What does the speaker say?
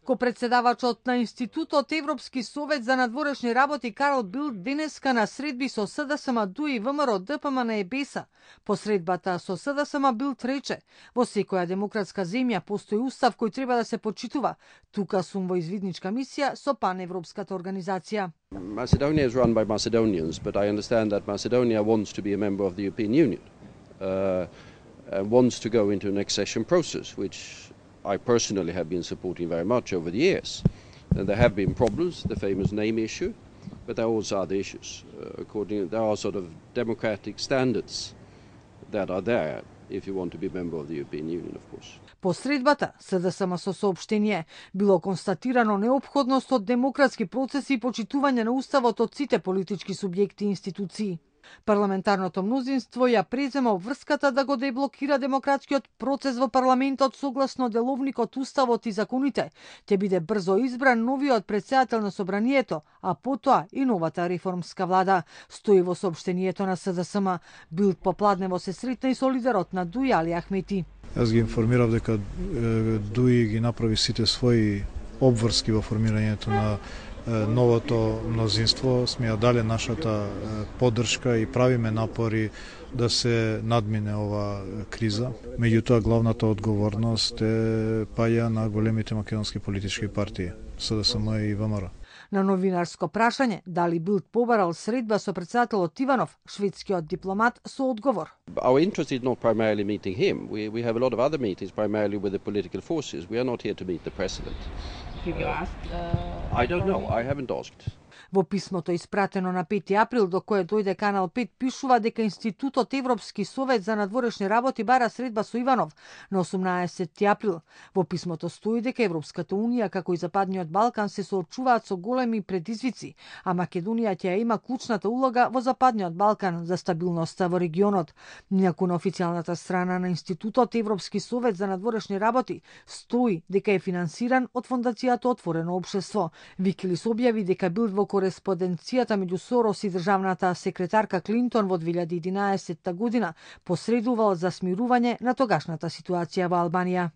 Ко председавачот на Институтот Европски совет за надворешни работи Карл Билт денеска на средби со СДСМ, ДУИ и ВМРО, ДПМН и БЕСА. По средбата со СДСМ Билт рече: во секоја демократска земја постои устав кој треба да се почитува. Тука сум во извидничка мисија со паневропската организација. Macedonia is run by Macedonians, but I understand that Macedonia wants to be a member of the European Union, and wants to go into an accession process, which I personally have been supporting very much over the years. And there have been problems, the famous name issue, but there are also other issues. There are sort of democratic standards that are there if you want to be a member of the European Union, of course. По средбата, СДСМ со соопштение, било констатирано неопходност од демократски процеси и почитување на уставот од сите политички субјекти и институции. Парламентарното мнозинство ја презема обврската да го деблокира демократскиот процес во парламентот согласно деловникот, уставот и законите. Ќе биде брзо избран новиот претседател на собранието, а потоа и новата реформска влада, стои во соопштението на СДСМ. Билт попладнево се сретна и со лидерот на ДУИ Али Ахмети. Јас ги информирав дека ДУИ ги направи сите своји обврски во формирањето на новото мнозинство. Сме ја дале нашата поддршка и правиме напори да се надмине ова криза. Меѓутоа, главната одговорност паѓа на големите македонски политички партии, СДСМ и ВМРО. На новинарско прашање дали Билт побарал средба со претседателот Иванов, шведскиот дипломат со одговор. Our interest is not primarily meeting him. We have a lot of other meetings primarily with the political forces. We are not here to meet the president. I don't know. I haven't asked. Во писмото испратено на 5 април, до кое дојде Канал 5, пишува дека Институтот Европски совет за надворешни работи бара средба со Иванов на 18 април. Во писмото стои дека Европската унија како и Западниот Балкан се соочуваат со големи предизвици, а Македонија ќе има клучната улога во Западниот Балкан за стабилноста во регионот. Инаку на официјалната страна на Институтот Европски совет за надворешни работи стои дека е финансиран од фондацијата Отворено општество. Викилис објави дека Билт во кореспонденцијата меѓу Сорос и државната секретарка Клинтон во 2011 година посредувал за смирување на тогашната ситуација во Албанија.